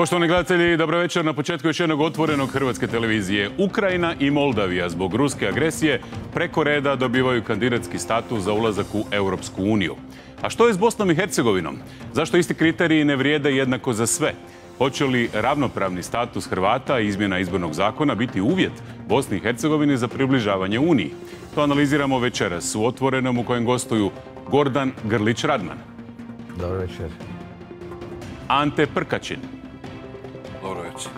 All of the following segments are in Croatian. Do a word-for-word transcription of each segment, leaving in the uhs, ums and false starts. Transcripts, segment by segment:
Poštovani gledatelji, dobro večer. Na početku još jednog otvorenog hrvatske televizije. Ukrajina i Moldavija zbog ruske agresije preko reda dobivaju kandidatski status za ulazak u Europsku uniju. A što je s Bosnom i Hercegovinom? Zašto isti kriteriji ne vrijede jednako za sve? Hoće li ravnopravni status Hrvata i izmjena izbornog zakona biti uvjet Bosni i Hercegovini za približavanje Uniji? To analiziramo večeras u Otvorenom u kojem gostuju Gordan Grlić-Radman. Dobro večer. Ante Prkačin. Dobro večer.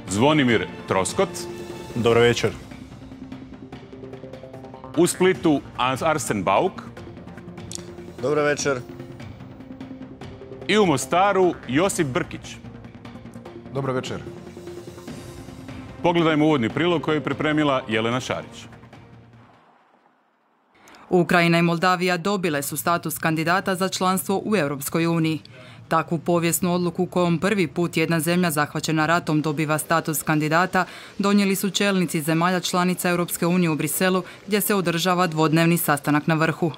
Zvonimir Troskot. Dobro večer. U Splitu Arsen Bauk. Dobro večer. I u Mostaru Josip Brkić. Dobro večer. Pogledajmo uvodni prilog koji je pripremila Jelena Šarić. Ukrajina i Moldavija dobile su status kandidata za članstvo u Europskoj uniji. Takvu povijesnu odluku kojom prvi put jedna zemlja zahvaćena ratom dobiva status kandidata donijeli su čelnici zemalja članica Europske unije u Briselu, gdje se održava dvodnevni sastanak na vrhu.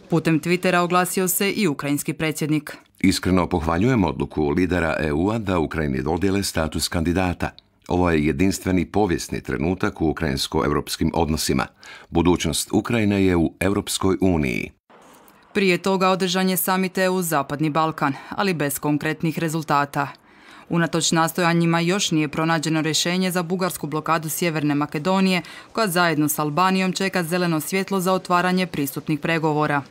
Putem Twittera oglasio se i ukrajinski predsjednik. Iskreno pohvaljujem odluku lidera E U-a da Ukrajini dodijele status kandidata. Ovo je jedinstveni povijesni trenutak u ukrajinsko-europskim odnosima. Budućnost Ukrajine je u Europskoj uniji. Prije toga održan je samit E U Zapadni Balkan, ali bez konkretnih rezultata. Unatoč nastojanjima još nije pronađeno rješenje za bugarsku blokadu Sjeverne Makedonije, koja zajedno s Albanijom čeka zeleno svjetlo za otvaranje pristupnih pregovora.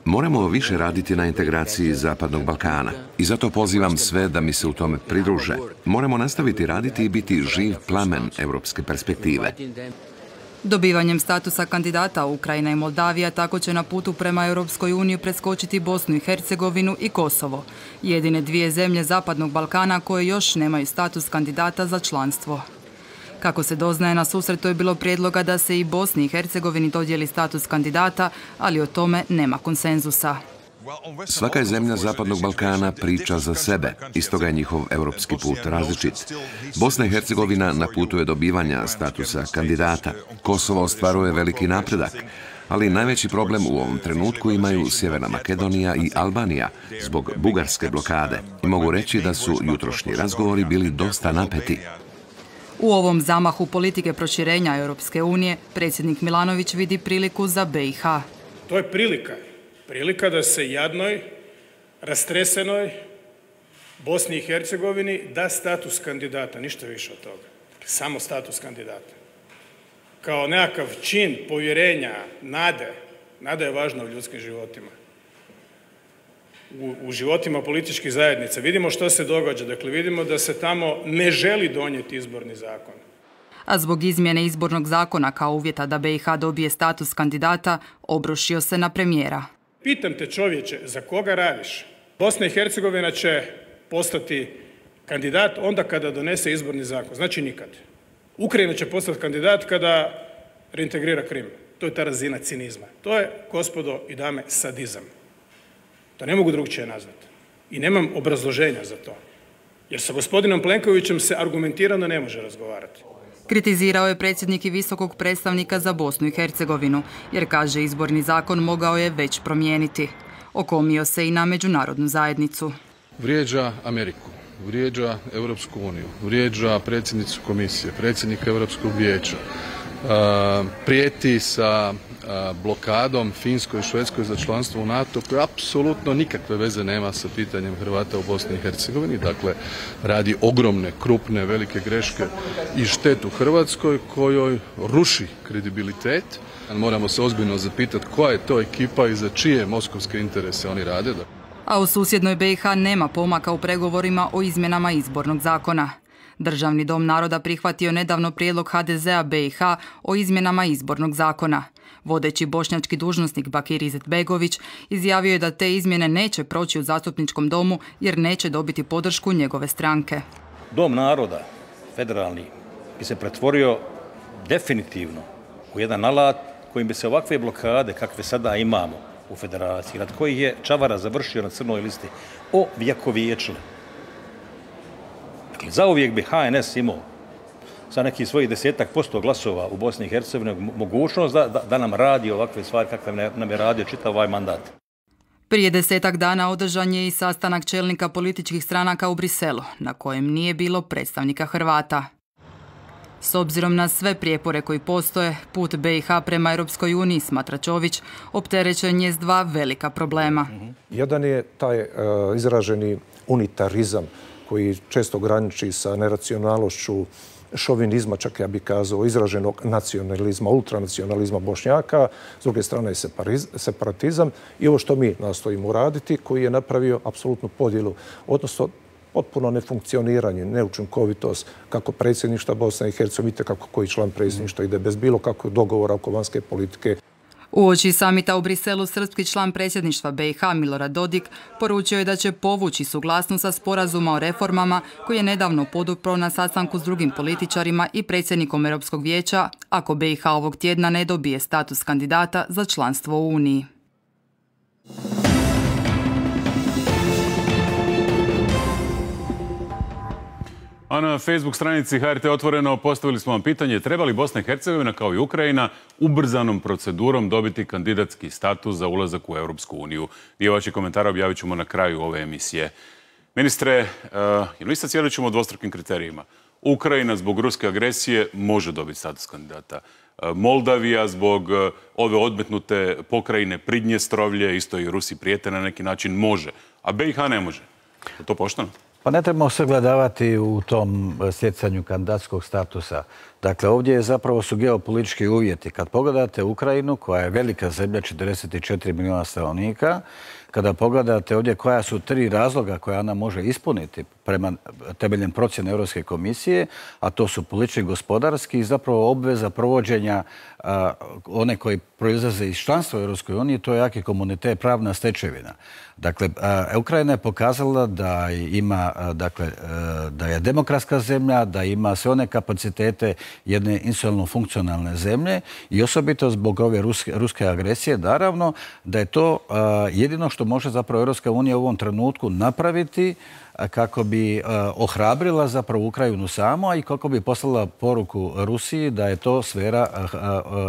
Moramo više raditi na integraciji Zapadnog Balkana i zato pozivam sve da mi se u tome pridruže. Moramo nastaviti raditi i biti živ plamen europske perspektive. Dobivanjem statusa kandidata Ukrajina i Moldavija tako će na putu prema Europskoj uniji preskočiti Bosnu i Hercegovinu i Kosovo, jedine dvije zemlje Zapadnog Balkana koje još nemaju status kandidata za članstvo. Kako se doznaje, na susretu je bilo prijedloga da se i Bosni i Hercegovini dodijeli status kandidata, ali o tome nema konsenzusa. Svaka je zemlja Zapadnog Balkana priča za sebe, i stoga je njihov europski put različit. Bosna i Hercegovina na putu je dobivanja statusa kandidata. Kosovo ostvaruje veliki napredak, ali najveći problem u ovom trenutku imaju Sjeverna Makedonija i Albanija zbog bugarske blokade. I mogu reći da su jutrošnji razgovori bili dosta napeti. U ovom zamahu politike proširenja Europske unije predsjednik Milanović vidi priliku za B i H. To je prilika. Prilika da se jadnoj, rastresenoj Bosni i Hercegovini da status kandidata, ništa više od toga. Samo status kandidata. Kao nekakav čin povjerenja, nade. Nada je važna u ljudskim životima. U, u životima političkih zajednica. Vidimo što se događa. Dakle, vidimo da se tamo ne želi donijeti izborni zakon. A zbog izmjene izbornog zakona kao uvjeta da B i H dobije status kandidata, obrušio se na premijera. Pitam te, čovječe, za koga radiš? Bosna i Hercegovina će postati kandidat onda kada donese izborni zakon. Znači nikad. Ukrajina će postati kandidat kada reintegrira Krim. To je ta razina cinizma. To je, gospodo i dame, sadizam. To ne mogu drugčije nazvati. I nemam obrazloženja za to. Jer sa gospodinom Plenkovićem se argumentirano ne može razgovarati. Kritizirao je predsjednik i visokog predstavnika za Bosnu i Hercegovinu, jer kaže izborni zakon mogao je već promijeniti. Okomio se i na međunarodnu zajednicu. Vrijeđa Ameriku, vrijeđa Europsku uniju, vrijeđa predsjednicu komisije, predsjednika Europskog vijeća, prijeti sa blokadom Finskoj i Švedskoj za članstvo u NATO, koje apsolutno nikakve veze nema sa pitanjem Hrvata u Bosni i Hercegovini. Dakle, radi ogromne, krupne, velike greške i štetu Hrvatskoj, kojoj ruši kredibilitet. Moramo se ozbiljno zapitati koja je to ekipa i za čije moskovske interese oni rade. A u susjednoj B i H nema pomaka u pregovorima o izmjenama izbornog zakona. Državni dom naroda prihvatio nedavno prijedlog H D Z-a B i H o izmjenama izbornog zakona. Vodeći bošnjački dužnosnik Bakir Izetbegović izjavio je da te izmjene neće proći u zastupničkom domu jer neće dobiti podršku njegove stranke. Dom naroda, federalni, bi se pretvorio definitivno u jedan alat kojim bi se ovakve blokade kakve sada imamo u federaciji, nad kojih je Čavara završio na crnoj listi, ovjekovječile. Dakle, zauvijek bi H N S imao sa nekih svojih desetak posto glasova u Bosni i Hercegovini mogućnost da, da, da nam radi ovakve stvari kakve nam je radio čitav ovaj mandat. Prije desetak dana održan je i sastanak čelnika političkih stranaka u Briselu, na kojem nije bilo predstavnika Hrvata. S obzirom na sve prijepore koji postoje, put B i H prema Europskoj uniji, smatra Čović, opterećen je s dva velika problema. Jedan je taj uh, izraženi unitarizam koji često graniči sa neracionalnošću, šovinizma, čak ja bih kazao, izraženog nacionalizma, ultranacionalizma Bošnjaka, s druge strane je separatizam i ovo što mi nastojimo uraditi, koji je napravio apsolutnu podjelu, odnosno potpuno nefunkcioniranje, neučinkovitost kako predsjedništva Bosne i Hercegovine, kako koji član predsjedništva ide bez bilo kakvog dogovora oko vanjske politike. Uoči samita u Briselu srpski član predsjedništva B i H Milorad Dodik poručio je da će povući suglasnost sa sporazuma o reformama koji je nedavno podupro na sastanku s drugim političarima i predsjednikom Europskog vijeća ako B i H ovog tjedna ne dobije status kandidata za članstvo u Uniji. A na Facebook stranici H R T Otvoreno postavili smo vam pitanje treba li Bosna i Hercegovina kao i Ukrajina ubrzanom procedurom dobiti kandidatski status za ulazak u Europsku uniju. Dio vaših komentara objavit ćemo na kraju ove emisije. Ministre, uh, jel mislite cijelit ćemo o dvostrukim kriterijima? Ukrajina zbog ruske agresije može dobiti status kandidata. Moldavija zbog ove odmetnute pokrajine Pridnjestrovlje, isto i Rusi prijete na neki način, može. A B i H ne može. Je to pošteno? Pa ne trebamo se gledavati u tom stjecanju kandidatskog statusa. Dakle, ovdje zapravo su geopolitički uvjeti. Kad pogledate Ukrajinu, koja je velika zemlja, četrdeset četiri milijuna stanovnika, kada pogledate ovdje koja su tri razloga koja ona može ispuniti prema temeljem procjene Europske komisije, a to su politički, gospodarski i zapravo obveza provođenja a, one koji proizlaze iz članstva u Europskoj uniji, to je jaki komunitet, pravna stečevina. Dakle, a, Ukrajina je pokazala da ima, a, dakle, a, da je demokratska zemlja, da ima sve one kapacitete jedne institucionalno funkcionalne zemlje i osobito zbog ove ruske, ruske agresije, naravno, da je to a, jedino što može zapravo Europska unija u ovom trenutku napraviti kako bi ohrabrila zapravo Ukrajinu samo i kako bi poslala poruku Rusiji da je to sfera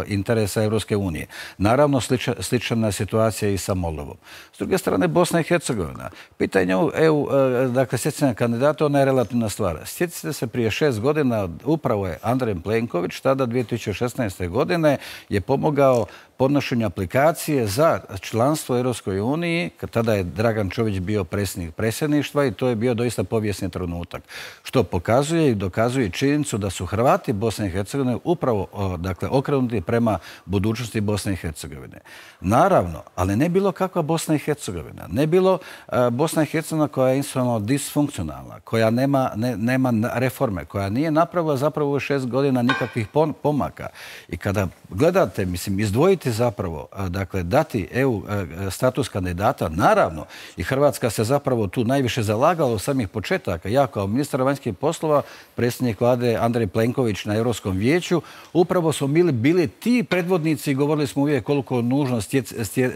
interesa Europske unije. Naravno, slična, slična situacija i sa Moldovom. S druge strane, Bosna i Hercegovina. Pitanje E U, dakle, stjecanja kandidata, ona je relativna stvar. Sjetite se, prije šest godina upravo je Andrej Plenković, tada dvije tisuće šesnaeste. godine, je pomogao podnošenju aplikacije za članstvo u Europskoj uniji, tada je Dragan Čović bio predsjednik predsjedništva i to je bio doista povijesni trenutak. Što pokazuje i dokazuje činjenicu da su Hrvati Bosne i Hercegovine upravo dakle, okrenuti prema budućnosti Bosne i Hercegovine. Naravno, ali ne bilo kakva Bosna i Hercegovina. Ne bilo uh, Bosna i Hercegovina koja je institucionalno disfunkcionalna, koja nema, ne, nema reforme, koja nije napravila zapravo u šest godina nikakvih pomaka. I kada gledate, mislim, izdvojiti zapravo, dakle, dati E U status kandidata, naravno, i Hrvatska se zapravo tu najviše zalagala od samih početaka. Ja kao ministar vanjskih poslova, predsjednik vlade Andrej Plenković na Europskom vijeću, upravo smo bili, bili ti predvodnici i govorili smo uvijek koliko je nužno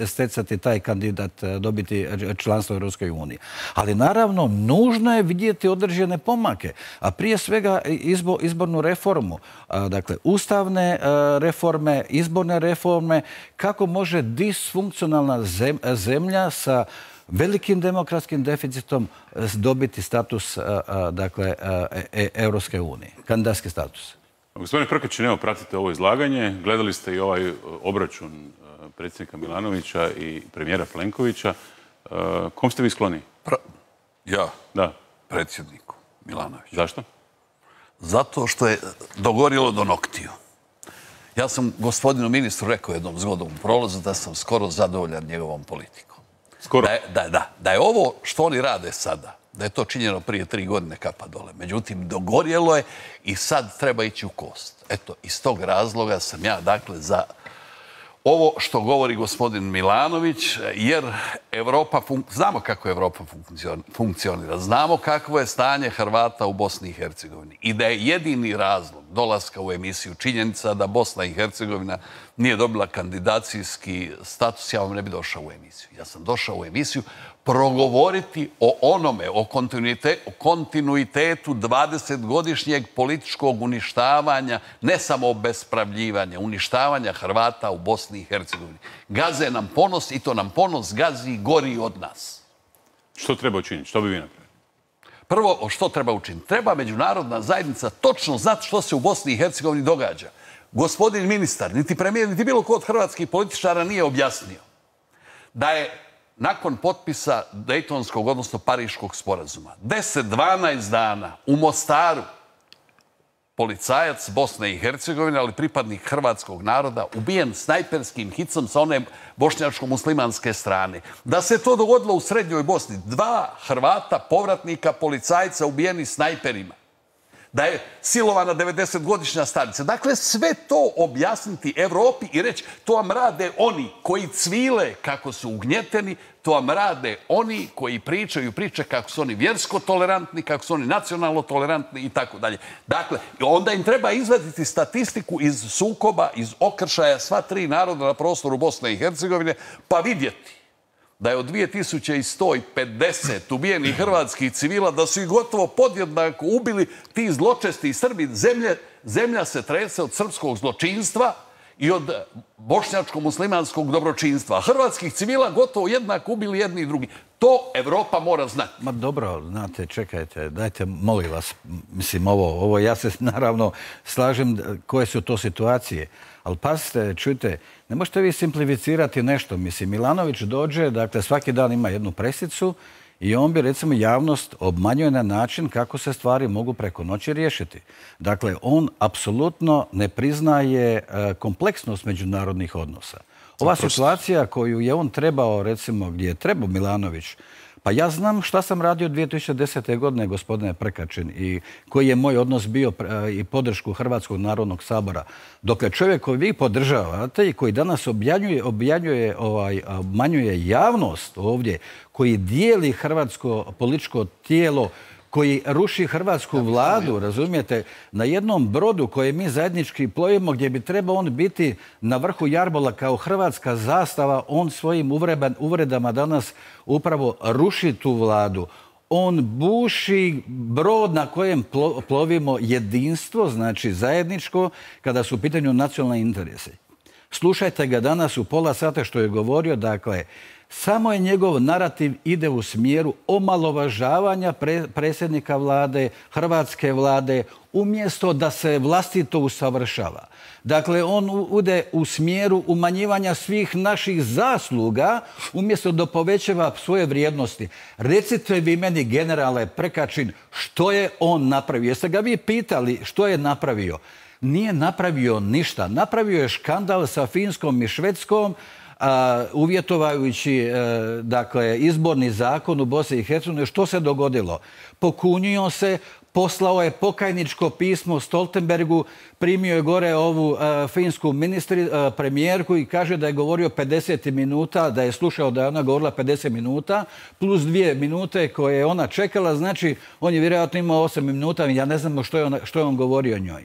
stjecati taj kandidat, dobiti članstvo u Europskoj uniji. Ali naravno, nužno je vidjeti određene pomake, a prije svega izbo, izbornu reformu, dakle, ustavne reforme, izborne reforme, kako može disfunkcionalna zemlja sa velikim demokratskim deficitom dobiti status, dakle, Europske unije, kandidatski status. Gospodine Prkač, evo, pratite ovo izlaganje. Gledali ste i ovaj obračun predsjednika Milanovića i premijera Plenkovića. Kom ste vi skloni? Pra... Ja? Da. Predsjedniku Milanoviću. Zašto? Zato što je dogorilo do noktiju. Ja sam gospodinu ministru rekao jednom zgodom u prolazu da sam skoro zadovoljan njegovom politikom. Skoro? Da je, da, da, da je ovo što oni rade sada, da je to činjeno prije tri godine kapa dole. Međutim, dogorjelo je i sad treba ići u kost. Eto, iz tog razloga sam ja, dakle, za ovo što govori gospodin Milanović, jer Evropa, znamo kako Evropa funkcionira, znamo kakvo je stanje Hrvata u Bosni i Hercegovini i da je jedini razlog dolaska u emisiju činjenica da Bosna i Hercegovina nije dobila kandidacijski status, ja vam ne bi došao u emisiju. Ja sam došao u emisiju progovoriti o onome, o kontinuitetu dvadesetgodišnjeg političkog uništavanja, ne samo obespravljivanja, uništavanja Hrvata u Bosni i Hercegovini. Gaze nam ponos i to nam ponos gazi gori od nas. Što treba učiniti? Što bi vi napravili? Prvo, što treba učiniti? Treba međunarodna zajednica točno znati što se u Bosni i Hercegovini događa. Gospodin ministar, niti premijer, niti bilo ko od hrvatskih političara nije objasnio da je nakon potpisa Dejtonskog, odnosno Pariškog sporazuma, deset do dvanaest dana u Mostaru policajac Bosne i Hercegovine, ali pripadnik hrvatskog naroda, ubijen snajperskim hicom sa one bošnjačko-muslimanske strane. Da se to dogodilo u Srednjoj Bosni. Dva Hrvata, povratnika, policajca ubijeni snajperima. Da je silovana devedesetgodišnja starica. Dakle, sve to objasniti Evropi i reći to vam rade oni koji cvile kako su ugnjeteni, to vam rade oni koji pričaju priče kako su oni vjersko tolerantni, kako su oni nacionalno tolerantni i tako dalje. Dakle, onda im treba izvaditi statistiku iz sukoba, iz okršaja sva tri naroda na prostoru Bosne i Hercegovine, pa vidjeti da je od dvije tisuće sto pedeset ubijenih hrvatskih civila, da su ih gotovo podjednako ubili ti zločesti Srbi. Zemlja se trese od srpskog zločinstva i od bošnjačko-muslimanskog dobročinstva. Hrvatskih civila gotovo jednako ubili jedni i drugi. To Evropa mora znati. Ma dobro, znate, čekajte, dajte, molim vas, mislim, ovo, ovo ja se naravno slažem koje su to situacije. Ali pazite, čujte, ne možete vi simplificirati nešto. Mislim, Milanović dođe, dakle, svaki dan ima jednu presicu i on bi, recimo, javnost obmanjuje na način kako se stvari mogu preko noći riješiti. Dakle, on apsolutno ne priznaje kompleksnost međunarodnih odnosa. Ova situacija koju je on trebao, recimo, gdje je trebao Milanović, pa ja znam šta sam radio dvije tisuće desete. godine, gospodine Prkačin, i koji je moj odnos bio i podršku Hrvatskog narodnog sabora. Dokle čovjek koji vi podržavate i koji danas objanjuje, objanjuje, ovaj, obmanjuje javnost ovdje, koji dijeli hrvatsko političko tijelo, koji ruši hrvatsku vladu, razumijete, na jednom brodu koje mi zajednički plovimo, gdje bi trebao on biti na vrhu jarbola kao hrvatska zastava, on svojim uvredama danas upravo ruši tu vladu. On buši brod na kojem plovimo jedinstvo, znači zajedničko, kada su u pitanju nacionalni interesi. Slušajte ga danas u pola sata što je govorio, dakle, samo je njegov narativ ide u smjeru omalovažavanja predsjednika vlade, hrvatske vlade, umjesto da se vlastito usavršava. Dakle, on ide u smjeru umanjivanja svih naših zasluga, umjesto da povećava svoje vrijednosti. Recite vi meni, generale Prkačin, što je on napravio? Jeste ga vi pitali što je napravio? Nije napravio ništa. Napravio je škandal sa Finskom i Švedskom, uvjetovajući dakle, izborni zakon u Bosni i Hercegovini. Što se dogodilo? Pokunio se, poslao je pokajničko pismo Stoltenbergu, primio je gore ovu finsku ministri, premijerku i kaže da je govorio pedeset minuta, da je slušao da je ona govorila pedeset minuta, plus dvije minute koje je ona čekala, znači on je vjerojatno imao osam minuta, ja ne znam što je on, što je on govorio njoj.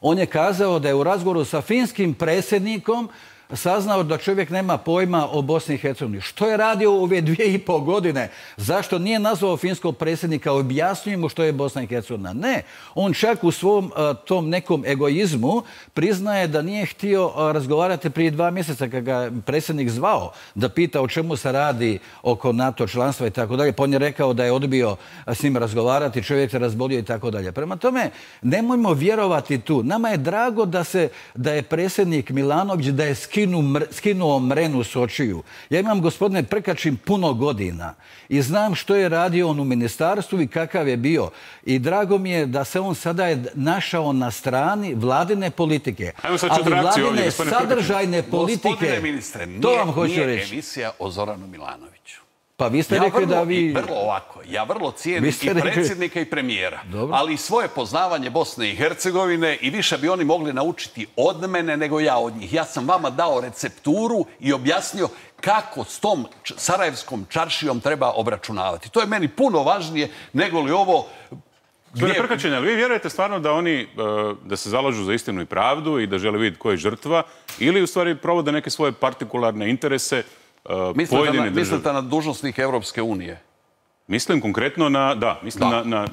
On je kazao da je u razgovoru sa finskim predsjednikom saznao da čovjek nema pojma o Bosni i Hercegovini. Što je radio u ove dvije i pol godine? Zašto nije nazvao finskog predsjednika, objasnio mu što je Bosna i Hercegovina? Ne. On čak u svom tom nekom egoizmu priznaje da nije htio razgovarati prije dva mjeseca kad ga predsjednik zvao da pita o čemu se radi oko NATO članstva i tako dalje. Pa on je rekao da je odbio s njim razgovarati, čovjek se razbolio i tako dalje. Prema tome, nemojmo vjerovati tu. Nama je drago da, se, da je predsjednik Milanović, da je skinuo mrenu s očiju. Ja imam, gospodine Prkačin, puno godina i znam što je radio on u ministarstvu i kakav je bio. I drago mi je da se on sada je našao na strani vladine politike. Ali vladine sadržajne politike... Gospodine ministre, to vam hoću nije reći. Emisija o Zoranu Milanoviću. Pa vi ste rekli da vi... Vrlo ovako. Ja vrlo cijenim i predsjednika i premijera. Ali svoje poznavanje Bosne i Hercegovine i više bi oni mogli naučiti od mene nego ja od njih. Ja sam vama dao recepturu i objasnio kako s tom sarajevskom čaršijom treba obračunavati. To je meni puno važnije nego li ovo Gospodine Prkačin, ali vi vjerujete stvarno da oni da se zalažu za istinu i pravdu i da žele vidjeti ko je žrtva ili u stvari provode neke svoje partikularne interese pojedine države? Mislite na dužnosnike Evropske unije? Mislim konkretno na... Da, mislim na...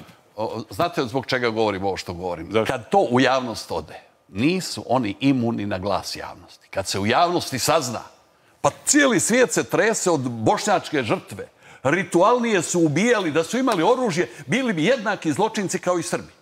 Znate zbog čega govorim ovo što govorim? Kad to u javnost ode, nisu oni imuni na glas javnosti. Kad se u javnosti sazna, pa cijeli svijet se trese od bošnjačke žrtve. Ritualnije su ubijali, da su imali oružje, bili bi jednaki zločinci kao i Srbi.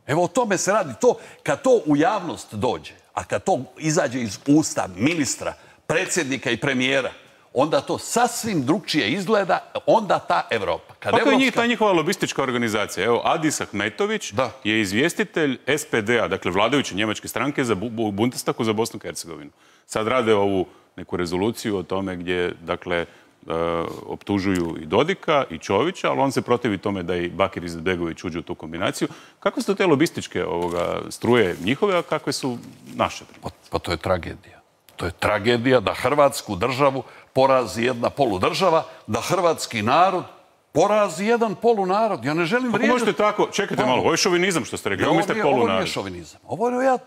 Evo o tome se radi. To, kad to u javnost dođe, a kad to izađe iz usta ministra, predsjednika i premijera, onda to sasvim drugčije izgleda, onda ta Evropa. Kako je njih ta njihova lobistička organizacija? Evo, Adis Ahmetović je izvjestitelj S P D-a, dakle vladajuće njemačke stranke za Bundestagu za Bosnu i Hercegovinu. Sad rade ovu neku rezoluciju o tome gdje, dakle, optužuju i Dodika i Čovića, ali on se protivi tome da i Bakir Izetbegović uđe u tu kombinaciju. Kakve su te lobističke struje njihove, a kakve su naše? Pa to je tragedija. To je tragedija da Hrvatsku državu porazi jedna poludržava, da hrvatski narod porazi jedan polunarod. Ja ne želim vrijeđati... Kako možete tako... Čekajte malo, ovo je šovinizam što ste rekli. Ovo mislite polunarod. Ovo nije šovinizam. Ovo je ja...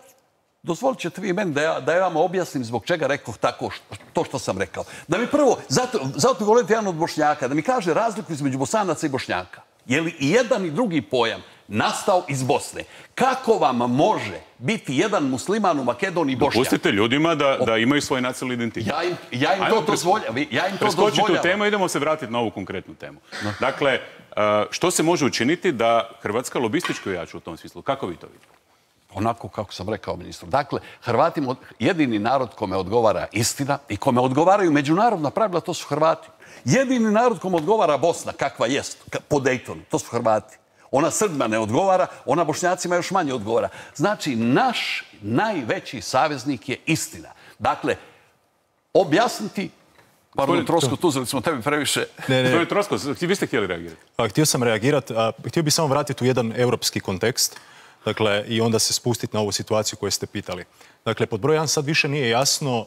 Dozvolit ćete vi meni da ja vam objasnim zbog čega rekao tako to što sam rekao. Da mi prvo, zato mi volite jedan od Bošnjaka, da mi kaže razliku između Bosanaca i Bošnjaka. Je li i jedan i drugi pojam nastao iz Bosne? Kako vam može biti jedan musliman u Makedoniji Bošnjak? Dopustite ljudima da imaju svoj nacionalni identitet. Ja im to dozvoljam. Preskočite u temu, idemo se vratiti na ovu konkretnu temu. Dakle, što se može učiniti da Hrvatska lobistički ojača u tom smislu? Kako vi to vidite? Onako kako sam rekao ministru. Dakle, Hrvatima jedini narod kome odgovara istina i kome odgovaraju međunarodna pravila, to su Hrvati. Jedini narod kome odgovara Bosna, kakva jest, po Daytonu, to su Hrvati. Ona Srbima ne odgovara, ona Bošnjacima još manje odgovara. Znači, naš najveći saveznik je istina. Dakle, objasniti... Pardon, Troskot, uzeli smo tebi previše... Gospodin Troskot, vi ste htjeli reagirati? Htio sam reagirati. Htio bih samo vratiti u jedan europski kontekst. Dakle, i onda se spustiti na ovu situaciju koju ste pitali. Dakle, pod broj jedan sad više nije jasno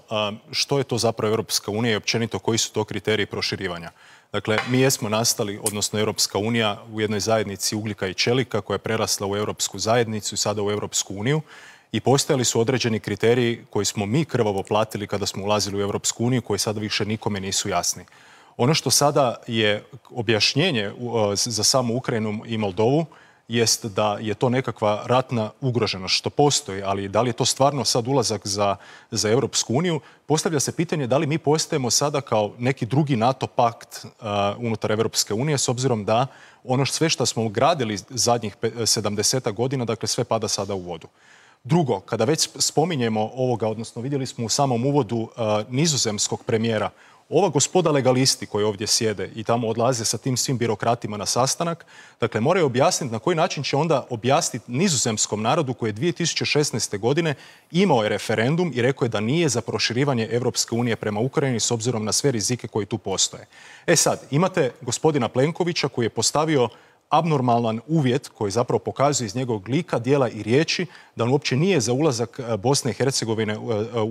što je to zapravo Europska unija i općenito koji su to kriteriji proširivanja. Dakle, mi jesmo nastali, odnosno Europska unija, u jednoj zajednici ugljika i čelika koja je prerasla u Europsku zajednicu i sada u Europsku uniju i postojali su određeni kriteriji koji smo mi krvavo platili kada smo ulazili u Europsku uniju, koji sada više nikome nisu jasni. Ono što sada je objašnjenje za samu Ukrajinu i Moldovu jest da je to nekakva ratna ugroženost, što postoji, ali da li je to stvarno sad ulazak za, za Europsku uniju, postavlja se pitanje da li mi postajemo sada kao neki drugi NATO pakt uh, unutar Europske unije, s obzirom da ono sve što smo gradili zadnjih sedamdeset godina, dakle sve pada sada u vodu. Drugo, kada već spominjemo ovoga, odnosno vidjeli smo u samom uvodu uh, nizozemskog premijera, ova gospoda legalisti koji ovdje sjede i tamo odlaze sa tim svim birokratima na sastanak, dakle moraju objasniti na koji način će onda objasniti nizozemskom narodu koji je dvije tisuće šesnaeste. godine imao je referendum i rekao je da nije za proširivanje Europske unije prema Ukrajini s obzirom na sve rizike koji tu postoje. E sad, imate gospodina Plenkovića koji je postavio abnormalan uvjet koji zapravo pokazuje iz njegovog lika, dijela i riječi da on uopće nije za ulazak Bosne i Hercegovine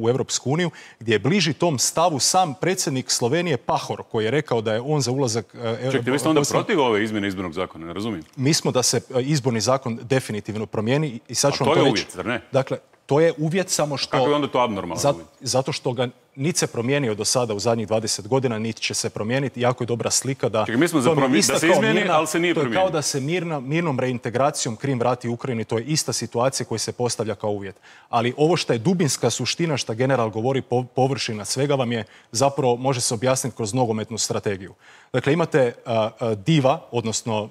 u Europsku uniju, gdje je bliži tom stavu sam predsjednik Slovenije Pahor, koji je rekao da je on za ulazak... Čekajte, vi ste onda protiv ove izmjene izbornog zakona, ne razumijem? Mi smo da se izborni zakon definitivno promijeni i sad ću vam to to reći. A to je uvjet, zar ne? Dakle, to je uvjet samo što... Kako je onda to abnormalno uvjet? Zato što ga niti se promijenio do sada u zadnjih dvadeset godina, niti će se promijeniti. Jako je dobra slika da... Čekaj, mi smo za promijeniti, da se izmijeni, ali se nije promijenio. To je kao da se mirna, mirnom reintegracijom Krim vrati Ukrajini. To je ista situacija koja se postavlja kao uvjet. Ali ovo što je dubinska suština, što general govori, površina svega vam je zapravo može se objasniti kroz nogometnu strategiju. Dakle, imate uh, uh, diva, odnosno uh,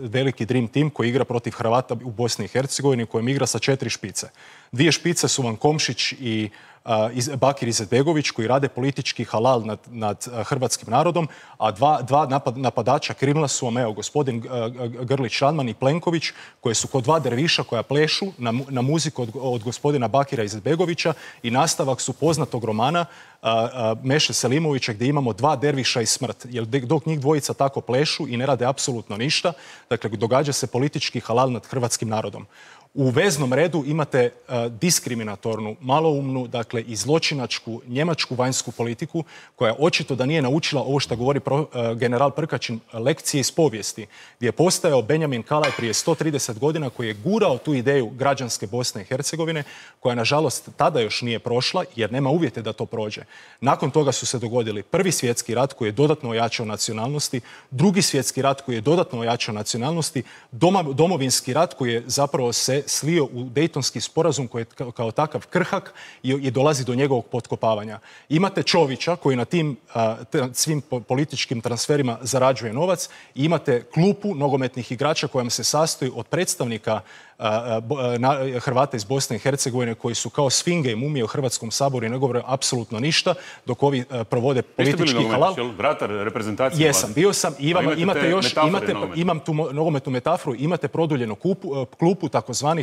veliki Dream Team koji igra protiv Hrvata u Bosni i Hercegovini, kojem igra sa četiri špice. Dvije špice su vam Komšić i uh, iz, Bakir Izetbegović koji rade politički halal nad, nad uh, hrvatskim narodom, a dva, dva napad, napadača krilna su vam, evo, gospodin uh, Grlić Radman i Plenković, koje su kod dva derviša koja plešu na, na muziku od, od gospodina Bakira Izetbegovića i nastavak su poznatog romana uh, uh, Meše Selimovića gdje imamo dva derviša i smrt. Jer dok njih dvojica tako plešu i ne rade apsolutno ništa, dakle, događa se politički halal nad hrvatskim narodom. U veznom redu imate uh, diskriminatornu, maloumnu, dakle i zločinačku njemačku vanjsku politiku koja očito da nije naučila ovo što govori pro, uh, general Prkačin lekcije iz povijesti, gdje je postajao Benjamin Kalaj prije sto trideset godina koji je gurao tu ideju građanske Bosne i Hercegovine, koja nažalost tada još nije prošla jer nema uvjete da to prođe. Nakon toga su se dogodili Prvi svjetski rat koji je dodatno ojačao nacionalnosti, Drugi svjetski rat koji je dodatno ojačao nacionalnosti, doma, domovinski rat koji je zapravo se slio u Dejtonski sporazum koji je kao, kao takav krhak i, i dolazi do njegovog potkopavanja. Imate Čovića koji na tim a, t, svim po, političkim transferima zarađuje novac i imate klupu nogometnih igrača kojom se sastoji od predstavnika a, a, na, Hrvata iz Bosne i Hercegovine koji su kao sfinge i mumije u Hrvatskom saboru i ne govore apsolutno ništa dok ovi a, provode politički halal. Vratar reprezentacije. Jesam, bio sam. I imam, imate još, imate, imam tu nogometnu metaforu, imate produljenu kupu, klupu takozvanih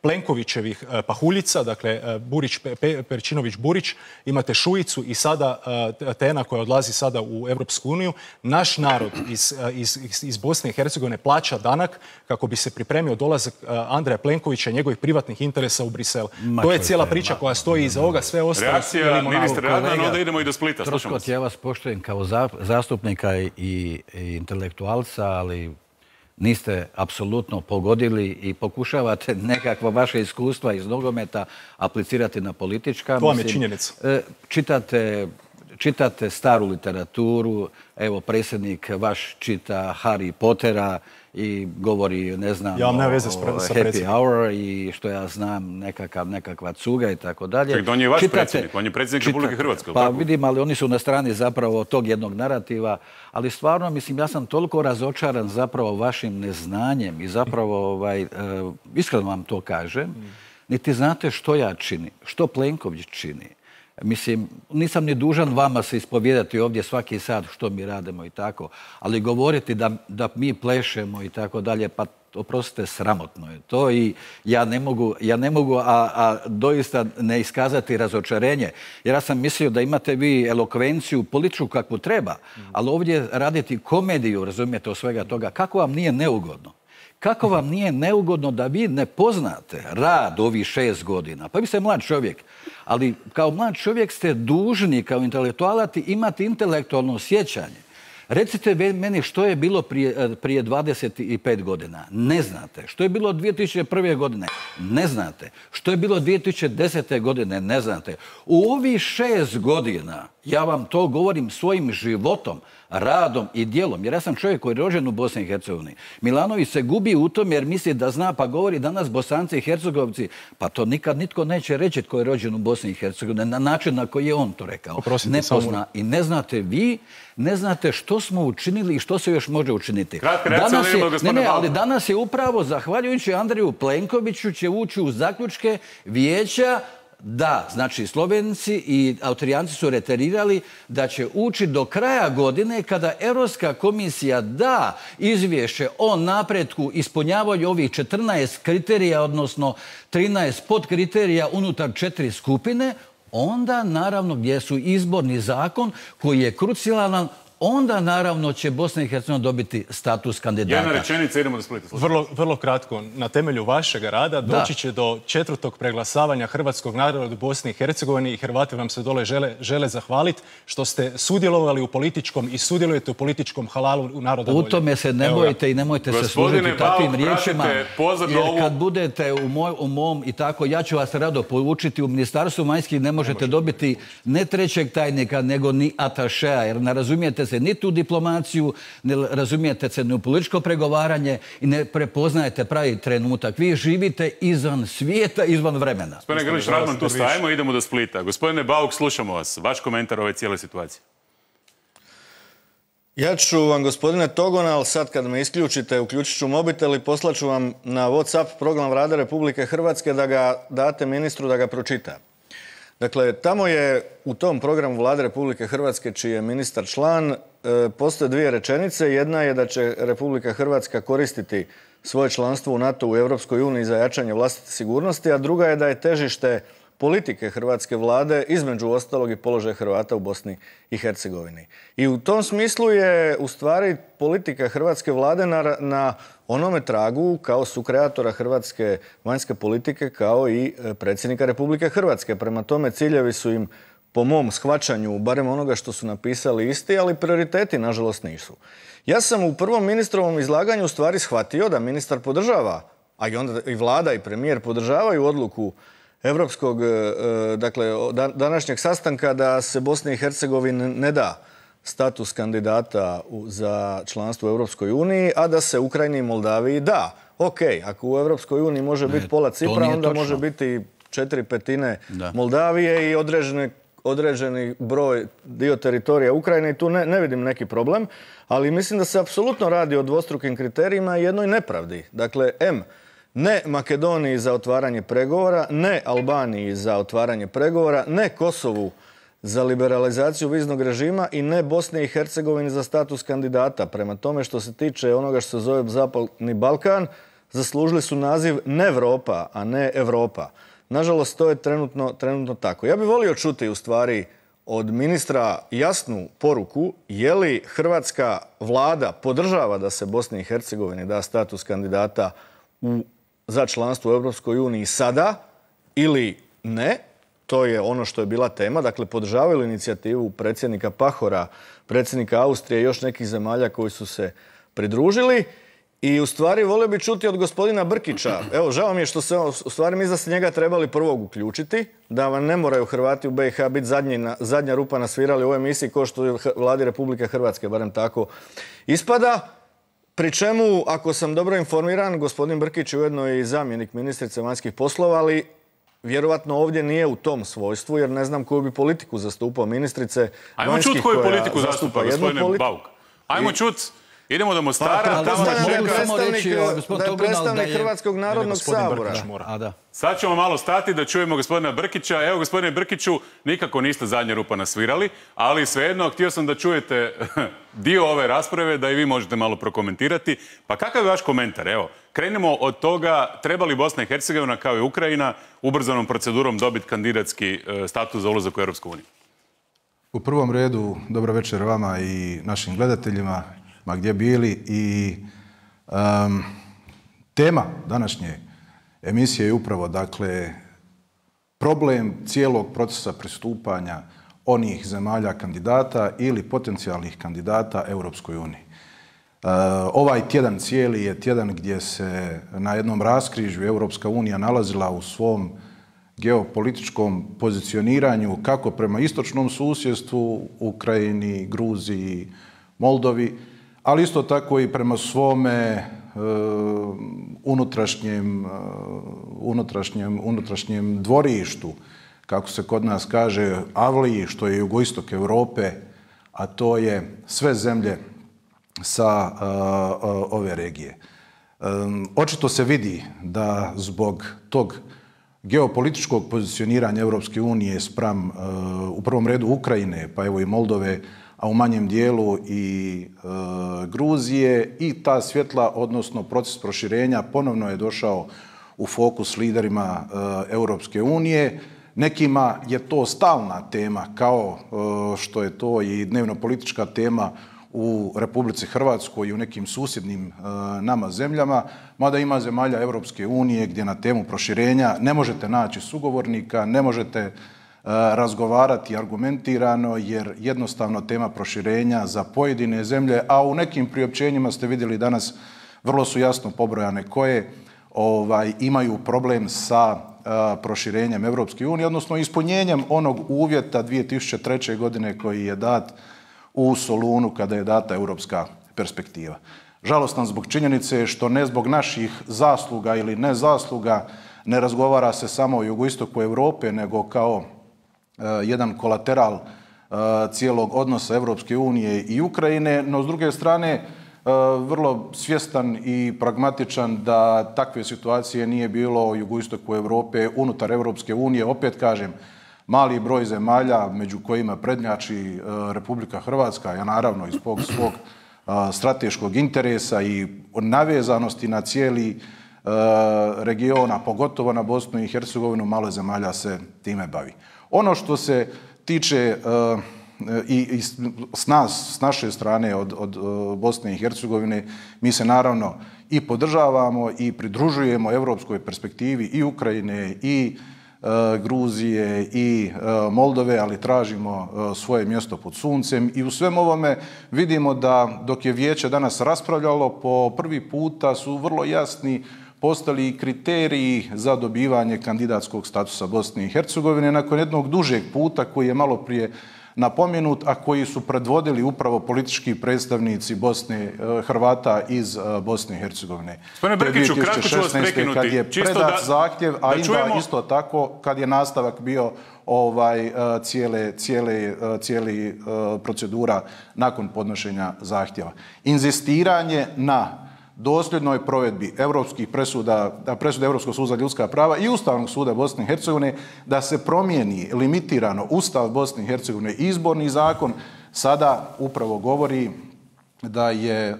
Plenkovićevih pahuljica, dakle Burić, Pe, Perčinović Burić, imate Šuicu i sada Tena koja odlazi sada u Europsku uniju. Naš narod iz, iz, iz Bosne i Hercegovine plaća danak kako bi se pripremio dolazak Andreja Plenkovića i njegovih privatnih interesa u Brisel. Ma, to je cijela priča koja stoji iza ovoga, sve ostalo. Reakcija ministra Radman, onda idemo i do Splita. Troškot, ja vas poštujem kao za, zastupnika i, i intelektualca, ali niste apsolutno pogodili i pokušavate nekakva vaše iskustva iz nogometa aplicirati na politička. To vam je činjenica. Čitate, čitate staru literaturu, evo predsjednik vaš čita Harry Pottera i govori, ne znam, ja o, veze s o happy hour i što ja znam, nekakav, nekakva cuga i tako dalje. Ček, on je vaš čitate, predsjednik, on je predsjednik čita, Republike Hrvatske. Pa tako? Vidim, ali oni su na strani zapravo tog jednog narativa, ali stvarno, mislim, ja sam toliko razočaran zapravo vašim neznanjem i zapravo, ovaj, uh, iskreno vam to kažem, mm. niti znate što ja činim, što Plenković čini. Mislim, nisam ni dužan vama se ispovijedati ovdje svaki sat što mi radimo i tako, ali govoriti da, da mi plešemo i tako dalje, pa oprostite, sramotno je to i ja ne mogu, ja ne mogu a, a doista ne iskazati razočarenje, jer ja sam mislio da imate vi elokvenciju političku kakvu treba, ali ovdje raditi komediju, razumijete, od svega toga, kako vam nije neugodno? Kako vam nije neugodno da vi ne poznate rad ovih šest godina? Pa vi ste mlad čovjek, ali kao mlad čovjek ste dužni kao intelektualac imati intelektualno sjećanje. Recite meni što je bilo prije, prije dvadeset pet godina. Ne znate. Što je bilo dvije tisuće prve. godine? Ne znate. Što je bilo dvije tisuće desete. godine? Ne znate. U ovih šest godina, ja vam to govorim svojim životom, radom i djelom, jer ja sam čovjek koji je rođen u Bosni i Hercegovini. Milanović se gubi u tom jer misli da zna, pa govori danas Bosanci i Hercegovci, pa to nikad nitko neće reći tko je rođen u Bosni i Hercegovini, na način na koji je on to rekao. Oprostite, ne pozna. I ne znate vi, ne znate što smo učinili i što se još može učiniti. Kratka reakcija, danas je, ne, ne, ali danas je upravo, zahvaljujući Andreju Plenkoviću, će ući u zaključke vijeća da, znači Slovenci i Austrijanci su reterirali da će ući do kraja godine kada Europska komisija da izvješće o napretku ispunjavanju ovih četrnaest kriterija, odnosno trinaest podkriterija unutar četiri skupine, onda naravno gdje su izborni zakon koji je krucijalan, onda naravno će Bosna i Hercegovina dobiti status kandidata. Jedna rečenica, idemo do Splita. Vrlo, vrlo kratko, na temelju vašeg rada da. doći će do četvrtog preglasavanja hrvatskog naroda u Bosni i Hercegovini i Hrvati vam se dole žele, žele zahvaliti što ste sudjelovali u političkom i sudjelujete u političkom halalu u naroda volje. U tome se ne bojite i nemojte se služiti takvim riječima, jer kad budete u, moj, u mom i tako, ja ću vas rado poučiti, u Ministarstvu vanjskih ne možete dobiti ne trećeg tajnika, nego ni atašea, jer ne razumijete se niti u diplomaciju, ne razumijete se ni u političko pregovaranje i ne prepoznajete pravi trenutak. Vi živite izvan svijeta, izvan vremena. Gospodine Grlić Radman, tu stajemo, idemo do Splita. Gospodine Bauk, slušamo vas. Vaš komentar ove cijele situacije. Ja ću vam, gospodine Togonal, sad kad me isključite, uključit ću mobitel i poslaću vam na WhatsApp program Vlade Republike Hrvatske da ga date ministru da ga pročita. Dakle, tamo je u tom programu Vlade Republike Hrvatske, čiji je ministar član, postoje dvije rečenice. Jedna je da će Republika Hrvatska koristiti svoje članstvo u NATO u Europskoj uniji za jačanje vlastite sigurnosti, a druga je da je težište politike hrvatske vlade, između ostalog i položaj Hrvata u Bosni i Hercegovini. I u tom smislu je u stvari politika hrvatske vlade na, na onome tragu kao sukreatora hrvatske vanjske politike kao i predsjednika Republike Hrvatske. Prema tome ciljevi su im po mom shvaćanju, barem onoga što su napisali isti, ali prioriteti nažalost nisu. Ja sam u prvom ministrovom izlaganju u stvari shvatio da ministar podržava, a i onda i vlada i premijer podržavaju odluku Evropskog, dakle, današnjeg sastanka da se Bosni i Hercegovini ne da status kandidata za članstvo u Europskoj uniji, a da se Ukrajini i Moldaviji da. Ok, ako u Europskoj uniji može biti pola Cipra, onda može biti četiri petine Moldavije i određene određeni broj dio teritorija Ukrajine i tu ne, ne vidim neki problem, ali mislim da se apsolutno radi o dvostrukim kriterijima i jednoj nepravdi. Dakle, M, ne Makedoniji za otvaranje pregovora, ne Albaniji za otvaranje pregovora, ne Kosovu za liberalizaciju viznog režima i ne Bosni i Hercegovini za status kandidata. Prema tome što se tiče onoga što se zove Zapadni Balkan, zaslužili su naziv ne Evropa, a ne Evropa. Nažalost, to je trenutno, trenutno tako. Ja bih volio čuti u stvari od ministra jasnu poruku je li hrvatska vlada podržava da se Bosni i Hercegovini da status kandidata u, za članstvo u Europskoj uniji sada ili ne. To je ono što je bila tema. Dakle, podržavaju inicijativu predsjednika Pahora, predsjednika Austrije i još nekih zemalja koji su se pridružili. I u stvari volio bi čuti od gospodina Brkića. Evo, žao mi je što se, u stvari mi da se njega trebali prvog uključiti, da vam ne moraju Hrvati u B i H biti zadnji, zadnja rupa nasvirali u ovoj emisiji kao što je vladi Republike Hrvatske, barem tako ispada. Pri čemu, ako sam dobro informiran, gospodin Brkić je ujedno i zamjenik ministrice vanjskih poslova, ali vjerovatno ovdje nije u tom svojstvu, jer ne znam koju bi politiku zastupao ministrice. Ajmo čuti koju politiku zastupa, gospodine politi... Bauk. Ajmo čuti. Idemo do Mostara. Da je predstavnik Hrvatskog narodnog sabora. Sad ćemo malo stati da čujemo gospodina Brkića. Evo, gospodine Brkiću, nikako niste zadnja rupa nasvirali, ali svejedno, htio sam da čujete dio ove rasprave, da i vi možete malo prokomentirati. Pa kakav je vaš komentar? Evo, krenemo od toga, treba li Bosna i Hercegovina, kao i Ukrajina, ubrzanom procedurom dobiti kandidatski status za ulazak u Europsku uniju? U prvom redu, dobro večer vama i našim gledateljima, ma gdje bili, i um, tema današnje emisije je upravo, dakle, problem cijelog procesa pristupanja onih zemalja kandidata ili potencijalnih kandidata Europskoj uniji. Uh, ovaj tjedan cijeli je tjedan gdje se na jednom raskrižju Europska unija nalazila u svom geopolitičkom pozicioniranju kako prema istočnom susjedstvu, Ukrajini, Gruziji, Moldovi, ali isto tako i prema svome uh, unutrašnjem, uh, unutrašnjem, unutrašnjem dvorištu, kako se kod nas kaže, Avliji, što je jugoistok Europe, a to je sve zemlje sa uh, uh, ove regije. Um, očito se vidi da zbog tog geopolitičkog pozicioniranja Europske unije spram uh, u prvom redu Ukrajine, pa evo i Moldove, a u manjem dijelu i e, Gruzije, i ta svjetla, odnosno proces proširenja, ponovno je došao u fokus liderima e, Europske unije. Nekima je to stalna tema, kao e, što je to i dnevno-politička tema u Republici Hrvatskoj i u nekim susjednim e, nama zemljama, mada ima zemalja Europske unije gdje na temu proširenja ne možete naći sugovornika, ne možete razgovarati argumentirano, jer jednostavno tema proširenja za pojedine zemlje, a u nekim priopćenjima ste vidjeli danas, vrlo su jasno pobrojane koje ovaj, imaju problem sa uh, proširenjem Europske unije, odnosno ispunjenjem onog uvjeta dvije tisuće treće. godine koji je dat u Solunu kada je data europska perspektiva. Žalostan zbog činjenice što ne zbog naših zasluga ili nezasluga ne razgovara se samo o jugoistoku Europe, nego kao jedan kolateral cijelog odnosa Europske unije i Ukrajine, no s druge strane vrlo svjestan i pragmatičan da takve situacije nije bilo u jugoistoku Europe unutar Europske unije. Opet kažem, mali broj zemalja među kojima prednjači Republika Hrvatska, ja naravno iz svog, svog strateškog interesa i navezanosti na cijeli regiona, pogotovo na Bosnu i Hercegovinu, malo zemalja se time bavi. Ono što se tiče i s nas, s naše strane od Bosne i Hercegovine, mi se naravno i podržavamo i pridružujemo europskoj perspektivi i Ukrajine i Gruzije i Moldove, ali tražimo svoje mjesto pod suncem i u svem ovome vidimo da dok je vijeće danas raspravljalo, po prvi puta su vrlo jasni postali kriteriji za dobivanje kandidatskog statusa Bosne i Hercegovine nakon jednog dužeg puta koji je malo prije napomenut, a koji su predvodili upravo politički predstavnici Bosne, Hrvata iz Bosne i Hercegovine. Gospodine Brkiću, kratko ću vas prekinuti. Kad je predat zahtjev, a onda isto tako kad je nastavak bio ovaj, cijele, cijele, cijeli procedura nakon podnošenja zahtjeva. Inzistiranje na dosljednoj provedbi europskih presuda, presuda Europskog suda za ljudska prava i Ustavnog suda Bosne i Hercegovine da se promijeni limitirano Ustav Bosne i Hercegovine i izborni zakon, sada upravo govori da je e,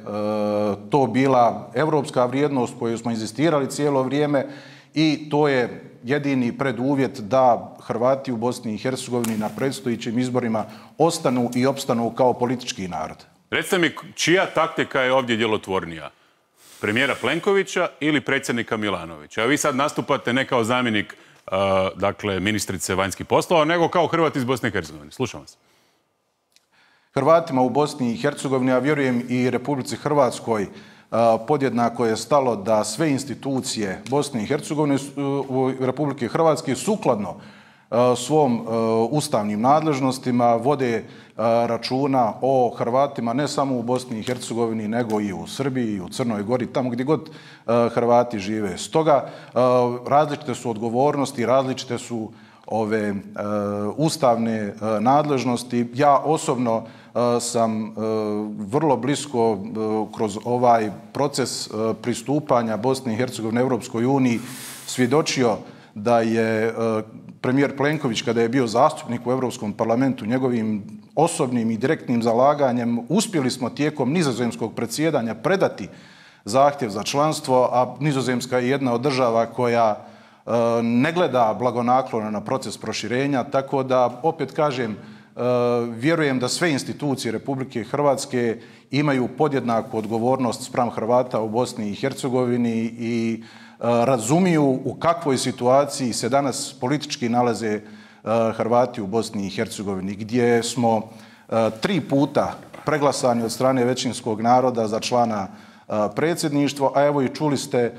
to bila europska vrijednost koju smo inzistirali cijelo vrijeme i to je jedini preduvjet da Hrvati u Bosni i Hercegovini na predstojećim izborima ostanu i opstanu kao politički narod. Recite mi, čija taktika je ovdje djelotvornija? Premijera Plenkovića ili predsjednika Milanovića? A vi sad nastupate ne kao zamjenik uh, dakle, ministrice vanjskih poslova, nego kao Hrvat iz Bosne i Hercegovine. Slušam vas. Hrvatima u Bosni i Hercegovini, a vjerujem i Republici Hrvatskoj, uh, podjednako je stalo da sve institucije Bosne i Hercegovine u Republike Hrvatske sukladno svom ustavnim nadležnostima vode računa o Hrvatima ne samo u Bosni i Hercegovini, nego i u Srbiji, i u Crnoj Gori, tamo gdje god Hrvati žive. Stoga različite su odgovornosti, različite su ove ustavne nadležnosti. Ja osobno sam vrlo blisko kroz ovaj proces pristupanja Bosne i Hercegovine Europskoj uniji svjedočio da je premijer Plenković, kada je bio zastupnik u Europskom parlamentu, njegovim osobnim i direktnim zalaganjem uspjeli smo tijekom nizozemskog predsjedanja predati zahtjev za članstvo, a Nizozemska je jedna od država koja ne gleda blagonaklono na proces proširenja, tako da, opet kažem, vjerujem da sve institucije Republike Hrvatske imaju podjednaku odgovornost spram Hrvata u Bosni i Hercegovini i razumiju u kakvoj situaciji se danas politički nalaze Hrvati u Bosni i Hercegovini, gdje smo tri puta preglasani od strane većinskog naroda za člana predsjedništva, a evo i čuli ste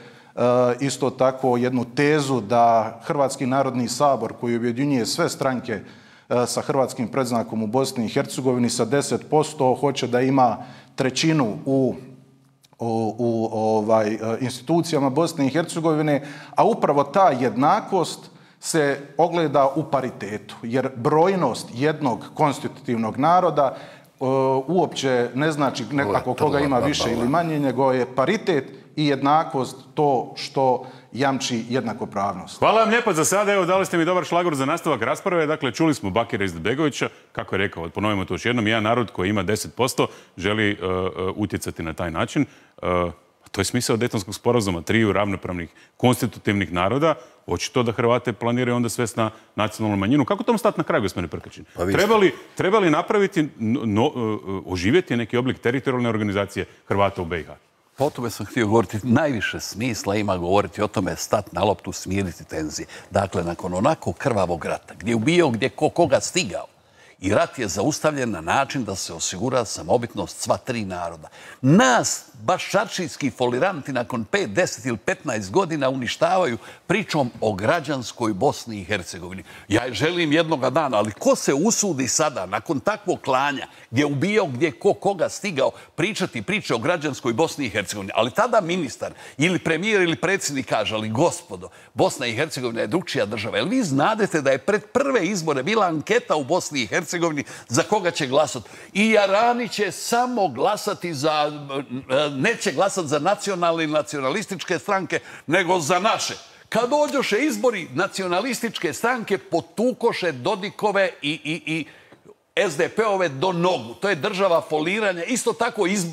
isto tako jednu tezu da Hrvatski narodni sabor, koji objedinjuje sve stranke sa hrvatskim predznakom u Bosni i Hercegovini sa deset posto, hoće da ima trećinu u u, u ovaj, institucijama Bosne i Hercegovine, a upravo ta jednakost se ogleda u paritetu, jer brojnost jednog konstitutivnog naroda uh, uopće ne znači nekako koga ima više ili manje, nego je paritet i jednakost to što jamči jednakopravnost. Hvala vam lijepo za sada. Evo, dali ste mi dobar šlagor za nastavak rasprave. Dakle, čuli smo Bakira Izetbegovića. Kako je rekao, ponovimo to još jednom, jedan narod koji ima deset posto želi uh, uh, utjecati na taj način. Uh, to je smisao Dejtonskog sporazuma, triju ravnopravnih konstitutivnih naroda. Očito da Hrvate planiraju onda svest na nacionalnu manjinu. Kako tomu stati na kraj, gospodine Prkačin? Pa trebali, trebali napraviti, no, uh, oživjeti neki oblik teritorijalne organizacije Hrvata u B i H? Pa o tome sam htio govoriti. Najviše smisla ima govoriti o tome, stati na loptu, smiriti tenzije. Dakle, nakon onako krvavog rata, gdje je ubijao, gdje ko koga stigao, i rat je zaustavljen na način da se osigura samobitnost sva tri naroda. Nas, baš šarčijski foliranti, nakon pet, deset ili petnaest godina uništavaju pričom o građanskoj Bosni i Hercegovini. Ja je želim jednoga dana, ali ko se usudi sada, nakon takvog klanja, gdje je ubijao, gdje ko koga stigao, pričati priče o građanskoj Bosni i Hercegovini. Ali tada ministar ili premijer ili predsjednik kaže, ali gospodo, Bosna i Hercegovina je drugčija država. Jel vi znadete da je pred prve izbore bila anketa u Bosni i Hercegovini za koga će glasati? I Jarani će samo glasati za, neće glasati za nacionalne i nacionalističke stranke, nego za naše. Kad dođoše izbori, nacionalističke stranke potukoše Dodikove i, i, i S D P-ove do nogu. To je država foliranja. Isto tako iz, uh,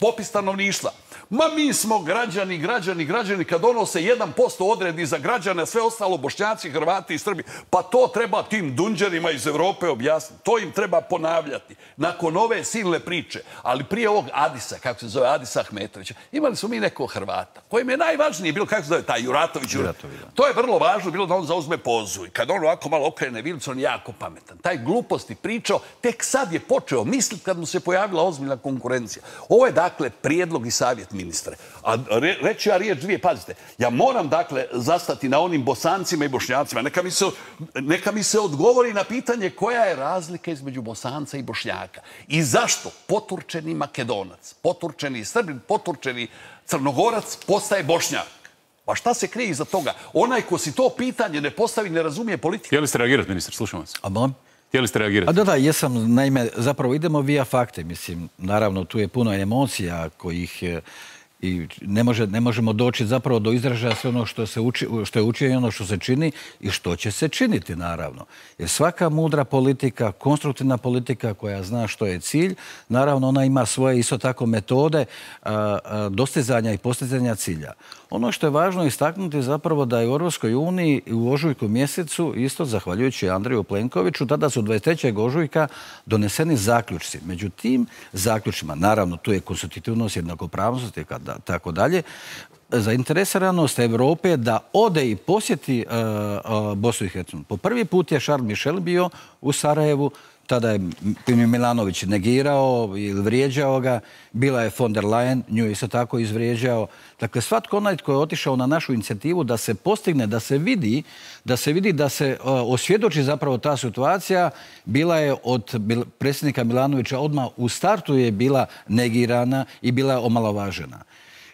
popis stanovništva. Ma mi smo građani, građani, građani, kad ono se jedan posto odredi za građane, sve ostalo Bošnjaci, Hrvati i Srbi, pa to treba tim dunđerima iz Evrope objasniti. To im treba ponavljati. Nakon ove silne priče, ali prije ovog Adisa, kako se zove, Adisa Ahmetovića, imali smo mi nekog Hrvata, kojem je najvažnije bilo, kako se zove, taj Juratović. Juratović. To je vrlo važno bilo da on zauzme pozu. I kad on ovako malo okrene vilicu, on je jako pametan. Taj gluposti pričao, tek sad je počeo misliti kad mu se pojavila ozbiljna konkurencija. Ovo je, dakle, prijedlog i savjet ministre. A re, reći ja riječ dvije, pazite, ja moram, dakle, zastati na onim Bosancima i Bošnjacima. Neka mi se, neka mi se odgovori na pitanje koja je razlika između Bosanca i Bošnjaka. I zašto poturčeni Makedonac, poturčeni Srbin, poturčeni Crnogorac postaje Bošnjak? Pa šta se krije iza toga? Onaj ko si to pitanje ne postavi, ne razumije politiku. Htjeli ste reagirati, ministar? Slušam vas. A molim? Htjeli ste reagirati? A da, da, jesam. Naime, zapravo idemo via fakte. Mislim, naravno, tu je puno emocija kojih i ne, može, ne možemo doći zapravo do izražaja sve ono što, se uči, što je učinjeno, ono što se čini i što će se činiti, naravno. Jer svaka mudra politika, konstruktivna politika koja zna što je cilj, naravno ona ima svoje isto tako metode a, a, dostizanja i postizanja cilja. Ono što je važno istaknuti zapravo da je u Europskoj uniji u ožujku mjesecu, isto zahvaljujući Andreju Plenkoviću, tada su dvadeset trećeg ožujka doneseni zaključci. Među tim zaključima, naravno tu je konstitutivnost, jednakopravnost i tako dalje, zainteresiranost Evrope da ode i posjeti uh, uh, Bosnu i Hercegovinu. Po prvi put je Charles Michel bio u Sarajevu, tada je Milanović negirao ili vrijeđao ga, bila je von der Leyen, nju je isto tako izvrijeđao. Dakle, svatko onaj tko je otišao na našu inicijativu da se postigne, da se vidi, da se vidi, da se uh, osvjedoči zapravo ta situacija, bila je od predsjednika Milanovića odmah u startu je bila negirana i bila je omalovažena.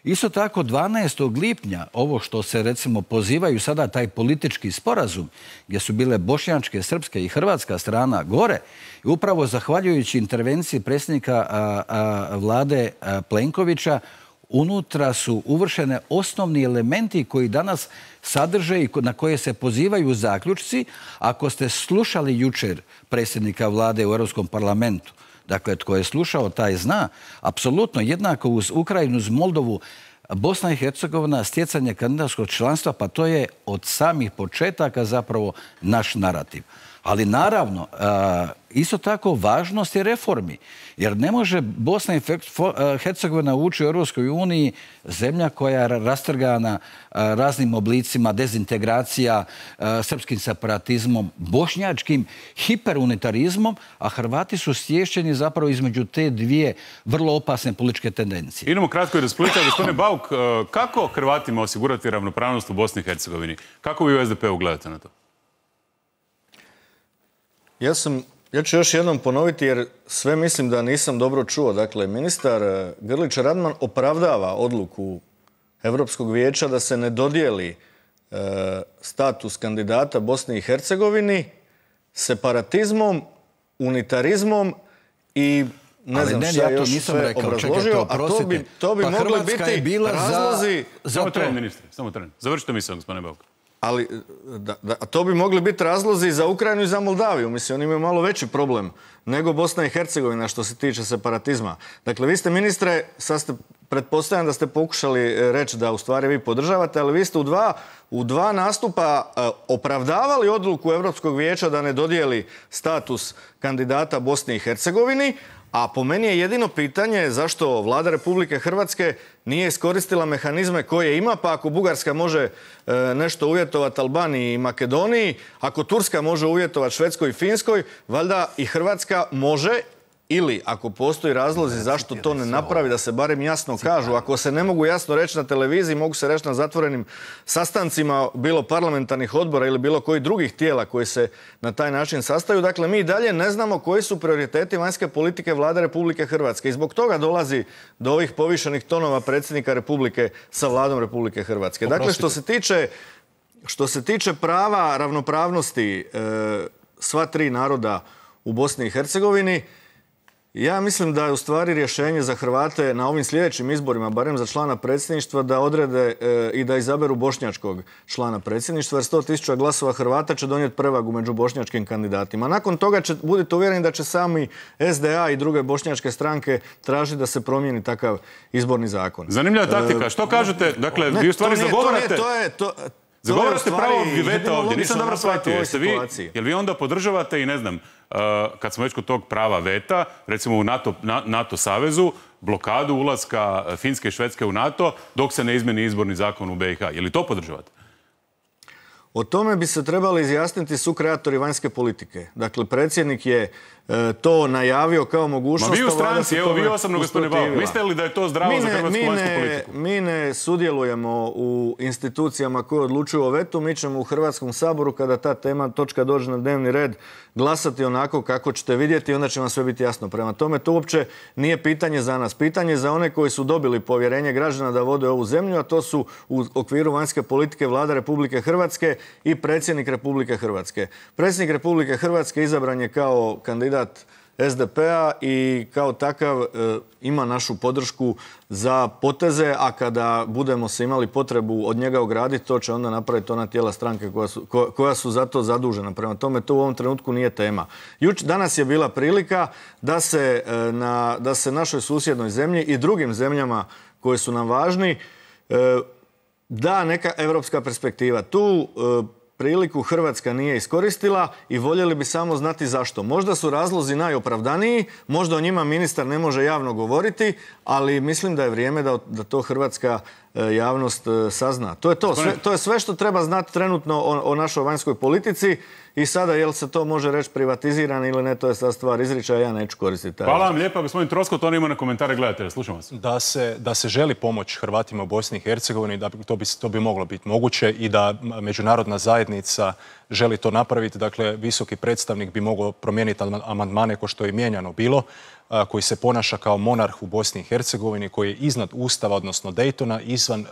Isto tako, dvanaestog lipnja, ovo što se recimo pozivaju sada, taj politički sporazum, gdje su bile bošnjačke, srpske i hrvatska strana gore, i upravo zahvaljujući intervenciji predsjednika a, a, vlade a, Plenkovića, unutra su uvršene osnovni elementi koji danas sadrže i na koje se pozivaju zaključci. Ako ste slušali jučer predsjednika vlade u Europskom parlamentu, dakle, tko je slušao, taj zna, apsolutno jednako uz Ukrajinu, uz Moldovu, Bosna i Hercegovina, stjecanje kandidatskog članstva, pa to je od samih početaka zapravo naš narativ. Ali naravno, isto tako važnost je reformi. Jer ne može Bosna i Hercegovina ući u Europskoj uniji zemlja koja je rastrgana raznim oblicima dezintegracija, srpskim separatizmom, bošnjačkim hiperunitarizmom, a Hrvati su stješćeni zapravo između te dvije vrlo opasne političke tendencije. Idemo kratko i do Splita. Gospodine Bauk, kako Hrvatima osigurati ravnopravnost u Bosni i Hercegovini? Kako vi u S D P-u gledate na to? Ja sam, ja ću još jednom ponoviti jer sve mislim da nisam dobro čuo. Dakle, ministar Grlić Radman opravdava odluku Europskog vijeća da se ne dodijeli e, status kandidata Bosni i Hercegovini separatizmom, unitarizmom i ne znam šta ja još sve obrazložio, a to bi, to bi pa mogli biti razlozi... Za... Samo tren, ministre, samo tren. Završite misao, gospodine Bauk. Ali da, da, to bi mogli biti razlozi za Ukrajinu i za Moldaviju. Mislim, oni imaju malo veći problem nego Bosna i Hercegovina što se tiče separatizma. Dakle, vi ste, ministre, sad ste, pretpostavljam da ste pokušali reći da u stvari vi podržavate, ali vi ste u dva, u dva nastupa uh, opravdavali odluku Europskog vijeća da ne dodijeli status kandidata Bosni i Hercegovini, a po meni je jedino pitanje zašto vlada Republike Hrvatske nije iskoristila mehanizme koje ima, pa ako Bugarska može e, nešto uvjetovati Albaniji i Makedoniji, ako Turska može uvjetovati Švedskoj i Finskoj, valjda i Hrvatska može, ili ako postoji razlozi zašto to ne napravi, da se barem jasno kažu. Ako se ne mogu jasno reći na televiziji, mogu se reći na zatvorenim sastancima, bilo parlamentarnih odbora ili bilo kojih drugih tijela koji se na taj način sastaju. Dakle, mi dalje ne znamo koji su prioriteti vanjske politike vlade Republike Hrvatske. I zbog toga dolazi do ovih povišenih tonova predsjednika Republike sa vladom Republike Hrvatske. Dakle, što se tiče, što se tiče prava ravnopravnosti e, sva tri naroda u Bosni i Hercegovini, Ja mislim da je u stvari rješenje za Hrvate na ovim sljedećim izborima, barem za člana predsjedništva, da odrede e, i da izaberu bošnjačkog člana predsjedništva, jer sto tisuća glasova Hrvata će donijeti prevagu među bošnjačkim kandidatima. Nakon toga će, budite uvjereni da će sami S D A i druge bošnjačke stranke tražiti da se promijeni takav izborni zakon. Zanimljiva taktika. Što kažete? Dakle, vi u stvari zagovarate... To je, to, Zagovarate pravo veta ovdje, nisam dobro shvatio. Jeste vi, jel vi onda podržavate i ne znam, uh, kad smo već kod tog prava veta, recimo u NATO, na, NATO savezu, blokadu ulaska Finske i Švedske u NATO dok se ne izmeni izborni zakon u B i H. Je li to podržavate? O tome bi se trebali izjasniti sukreatori vanjske politike. Dakle, predsjednik je e, to najavio kao mogućnost... Ma vi u stranci, evo vi osobno, gospodine Bauk, mislite li da je to zdravo mi ne, za hrvatsku mi vanjsku ne, politiku? Mi ne sudjelujemo u institucijama koje odlučuju o vetu. Mi ćemo u Hrvatskom saboru, kada ta tema, točka dođe na dnevni red, glasati onako kako ćete vidjeti i onda će vam sve biti jasno. Prema tome, to uopće nije pitanje za nas. Pitanje je za one koji su dobili povjerenje građana da vode ovu zemlju, a to su u okviru vanjske politike Vlada Republike Hrvatske i predsjednik Republike Hrvatske. Predsjednik Republike Hrvatske izabran je kao kandidat S D P-a i kao takav e, ima našu podršku za poteze, a kada budemo se imali potrebu od njega ograditi, to će onda napraviti ona tijela stranke koja su, ko, koja su za to zadužena. Prema tome, to u ovom trenutku nije tema. Juč, danas je bila prilika da se, e, na, da se našoj susjednoj zemlji i drugim zemljama koje su nam važni e, da neka evropska perspektiva. Tu e, priliku Hrvatska nije iskoristila i voljeli bi samo znati zašto. Možda su razlozi najopravdaniji, možda o njima ministar ne može javno govoriti, ali mislim da je vrijeme da, da to hrvatska javnost sazna. To je to. Sve, to je sve što treba znati trenutno o, o našoj vanjskoj politici i sada jel se to može reći privatizirano ili ne, to je sad stvar izričaja, ja neću koristiti taj. Hvala vam lijepa, gospodin Troskot, on ima na komentare gledatelja, slušam vas. Da se, da se želi pomoć Hrvatima u Bosni i Hercegovini, da to bi, to bi moglo biti moguće i da međunarodna zajednica želi to napraviti. Dakle, visoki predstavnik bi mogao promijeniti amandmane ko što je mijenjano bilo, koji se ponaša kao monarh u Bosni i Hercegovini, koji je iznad Ustava, odnosno Daytona, izvan uh,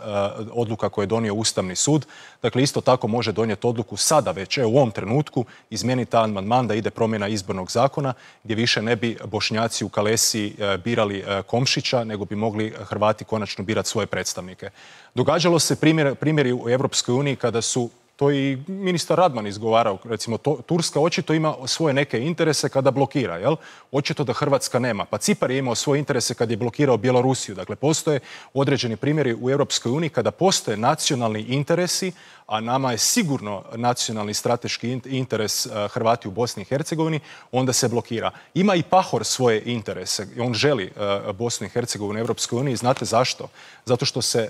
odluka koje je donio Ustavni sud. Dakle, isto tako može donijeti odluku sada već, u ovom trenutku, izmijeniti taj amandman da ide promjena izbornog zakona, gdje više ne bi Bošnjaci u Kalesiji uh, birali uh, Komšića, nego bi mogli Hrvati konačno birati svoje predstavnike. Događalo se primjer, primjeri u Europskoj uniji kada su to i ministar Radman izgovarao, recimo to, Turska očito ima svoje neke interese kada blokira, jel? Očito da Hrvatska nema. Pa Cipar je imao svoje interese kad je blokirao Bjelorusiju. Dakle, postoje određeni primjeri u Europskoj uniji kada postoje nacionalni interesi, a nama je sigurno nacionalni strateški interes Hrvati u Bosni i Hercegovini, onda se blokira. Ima i Pahor svoje interese. On želi Bosnu i Hercegovinu u Europskoj uniji. Znate zašto? Zato što se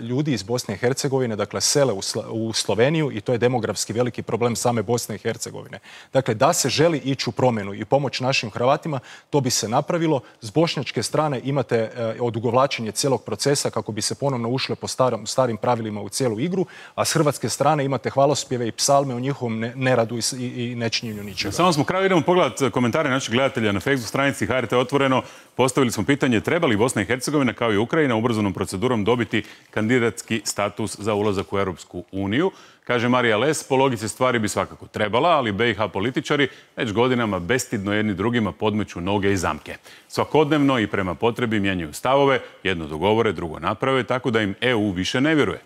ljudi iz Bosne i Hercegovine, dakle, sele u Sloveniju i to je demografski veliki problem same Bosne i Hercegovine. Dakle, da se želi ići u promjenu i pomoć našim Hrvatima, to bi se napravilo. S bošnjačke strane imate odugovlačenje cijelog procesa kako bi se ponovno ušle po starom, starim pravilima u cijelu igru, a s hrvatske strane imate hvalospjeve i psalme o njihovom neradu i, i nečinjenju ničega. Samo smo kraju, idemo pogledati komentare naših gledatelja na Facebook stranici H R T Otvoreno. Postavili smo pitanje treba li Bosna i Hercegovina kao i Ukrajina ubrzanom procedurom dobiti kandidatski status za ulazak u Europsku uniju. Kaže Marija Les, po logici stvari bi svakako trebala, ali B i H političari već godinama bestidno jedni drugima podmeću noge i zamke. Svakodnevno i prema potrebi mijenjaju stavove, jedno dogovore, drugo naprave, tako da im E U više ne vjeruje.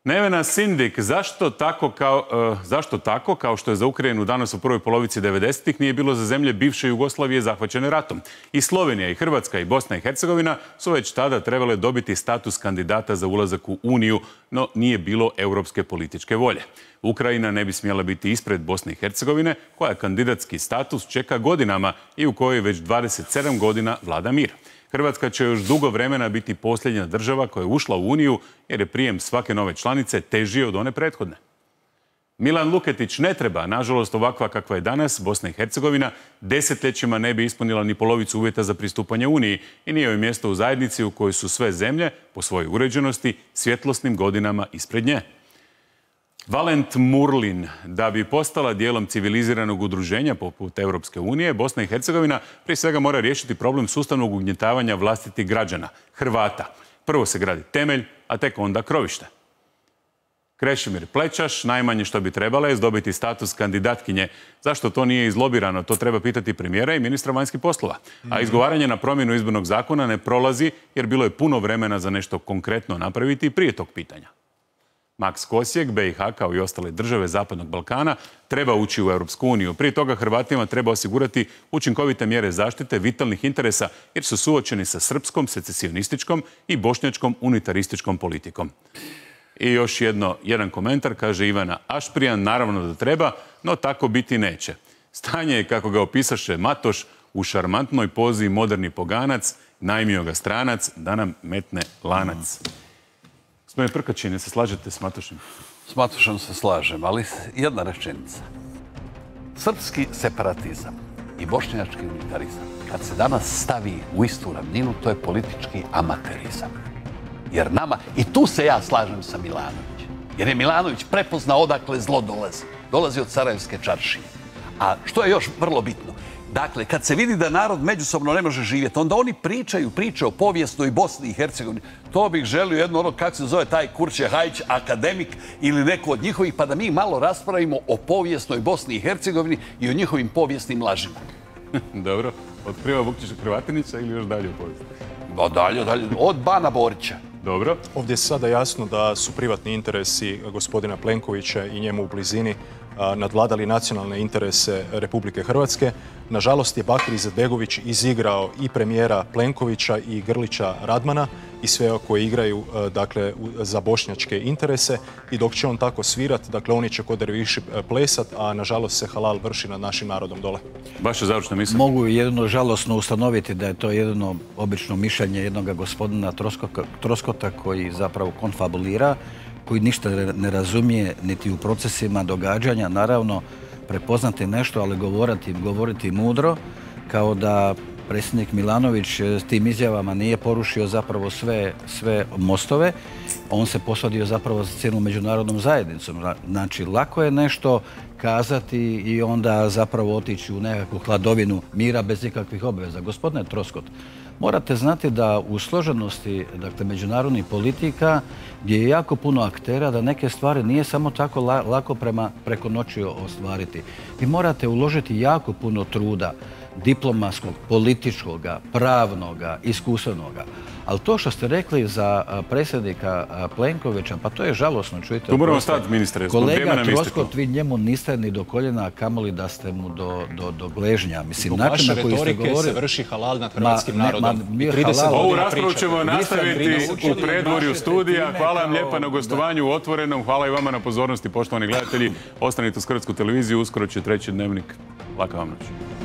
Nevena Sindik, zašto tako, kao, uh, zašto tako, kao što je za Ukrajinu danas u prvoj polovici devedesetih, nije bilo za zemlje bivše Jugoslavije zahvaćene ratom? I Slovenija, i Hrvatska, i Bosna i Hercegovina su već tada trebale dobiti status kandidata za ulazak u Uniju, no nije bilo europske političke volje. Ukrajina ne bi smjela biti ispred Bosne i Hercegovine, koja kandidatski status čeka godinama i u kojoj već dvadeset sedam godina vlada mir. Hrvatska će još dugo vremena biti posljednja država koja je ušla u Uniju jer je prijem svake nove članice teži od one prethodne. Milan Luketić ne treba, nažalost ovakva kakva je danas, Bosna i Hercegovina desetljećima ne bi ispunila ni polovicu uvjeta za pristupanje Uniji i nije joj mjesto u zajednici u kojoj su sve zemlje, po svojoj uređenosti, svjetlosnim godinama ispred nje. Valent Murlin, da bi postala dijelom civiliziranog udruženja poput Europske unije, Bosna i Hercegovina prije svega mora riješiti problem sustavnog ugnjetavanja vlastitih građana, Hrvata. Prvo se gradi temelj, a tek onda krovište. Krešimir Plećaš, najmanje što bi trebala je dobiti status kandidatkinje. Zašto to nije izlobirano? To treba pitati premijera i ministra vanjskih poslova. A izgovaranje na promjenu izbornog zakona ne prolazi jer bilo je puno vremena za nešto konkretno napraviti prije tog pitanja. Max Kosjek, B i H kao i ostale države Zapadnog Balkana treba ući u Europsku uniju. Prije toga Hrvatima treba osigurati učinkovite mjere zaštite vitalnih interesa jer su suočeni sa srpskom, secesionističkom i bošnjačkom unitarističkom politikom. I još jedno, jedan komentar, kaže Ivana Ašprijan, naravno da treba, no tako biti neće. Stanje je, kako ga opisaše Matoš, u šarmantnoj pozi moderni poganac, najmio ga stranac, da nam metne lanac. Gospodine Prkačin, ne se slažete s Matošem? S Matošem se slažem, ali jedna rečenica. Srpski separatizam i bošnjački unitarizam, kad se danas stavi u istu ravninu, to je politički amaterizam. Jer nama, i tu se ja slažem sa Milanovićem, jer je Milanović prepoznao odakle zlo dolazi. Dolazi od Sarajevske čaršije. A što je još vrlo bitno? Dakle, kad se vidi da narod međusobno ne može živjeti, onda oni pričaju priče o povijesnoj Bosni i Hercegovini. To bih želio jedno ono, kako se zove taj Kurče Hajić, akademik ili neko od njihovih, pa da mi malo raspravimo o povijesnoj Bosni i Hercegovini i o njihovim povijesnim lažima. Dobro. Od Kriva Vukčića Hrvatinića ili još dalje u povijesti? No, dalje, dalje. Od Bana Borića. Dobro. Ovdje je sada jasno da su privatni interesi gospodina Plenkovića i njemu u blizini nadvladali nacionalne interese Republike Hrvatske. Nažalost je Bakir Izetbegović izigrao i premijera Plenkovića i Grlića Radmana i sve koji igraju dakle, za bošnjačke interese i dok će on tako svirat, dakle oni će kod derviši plesat, a nažalost se halal vrši nad našim narodom dole. Vaša završna misla? Mogu jedno žalosno ustanoviti da je to jedno obično mišljenje jednog gospodina Troskota koji zapravo konfabulira, koji ništa ne razumije niti u procesima događanja, naravno prepoznati nešto, ali govoriti, govoriti mudro, kao da predsjednik Milanović s tim izjavama nije porušio zapravo sve, sve mostove, on se posadio zapravo za cijelu međunarodnom zajednicom. Znači, lako je nešto kazati i onda zapravo otići u nekakvu hladovinu mira bez ikakvih obveza. Gospodine Troskot, morate znati da u složenosti dakle, međunarodnih politika gdje je jako puno aktera, da neke stvari nije samo tako lako prema, preko noći ostvariti. Vi morate uložiti jako puno truda, diplomatskog, političkoga, pravnoga, iskustvenoga. Ali to što ste rekli za predsjednika Plenkovića, pa to je žalosno, čujte. Tu moramo stati, ministre. Kolega Troskot, vi njemu niste ni do koljena, kamoli da ste mu do, do, do gležnja. Mislim, zbog vaše retorike se vrši halal nad hrvatskim narodom. Ovu raspravu ćemo nastaviti u predvorju studija. Hvala vam lijepa na gostovanju u Otvorenom. Hvala i vama na pozornosti, poštovani gledatelji. Ostanite uz Hrvatsku televiziju, uskoro će treći dnevnik. Laka vam noć.